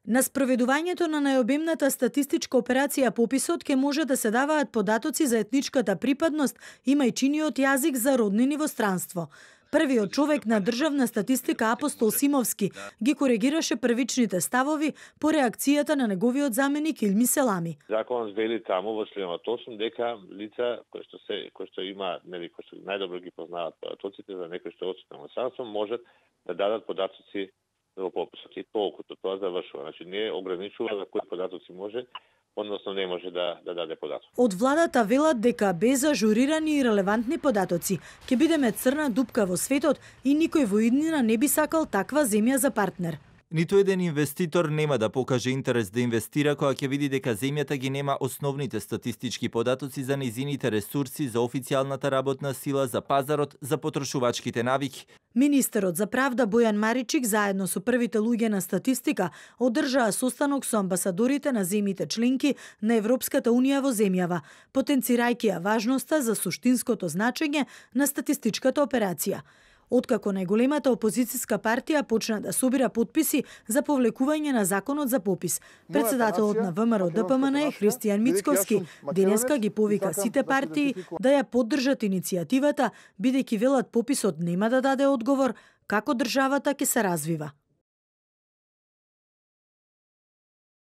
На спроведувањето на најобемната статистичка операција пописот ќе може да се даваат податоци за етничката припадност, имајчиниот јазик за роднини во странство. Првиот човек на државна статистика Апостол Симовски ги коригираше првичните ставови по реакцијата на неговиот заменик Илми Селами. Законот вели таму во членот 8 дека лица кои што има, кои што најдобро ги познаваат податоците за некој што е одсутен во странство, можат да дадат податоци во пописот. И толкото тоа завршува. Значи не ограничува за кои податоци може, односно не може да даде податок. Од владата велат дека без ажурирани и релевантни податоци ќе бидеме црна дупка во светот и никој во иднина не би сакал таква земја за партнер. Ниту еден инвеститор нема да покаже интерес да инвестира кога ќе види дека земјата ги нема основните статистички податоци за нејзините ресурси, за официјалната работна сила, за пазарот, за потрошувачките навики. Министерот за правда Бојан Маричик заедно со првите луѓе на статистика одржаа состанок со амбасадорите на земјите членки на Европската унија во земјава, потенцирајќи ја важноста за суштинското значење на статистичката операција. Откако најголемата опозицијска партија почна да собира подписи за повлекување на законот за попис. Председателот на ВМРО ДПМН Христијан Мицковски денеска ги повика сите партии да ја поддржат иницијативата, бидејќи велат пописот нема да даде одговор како државата ќе се развива.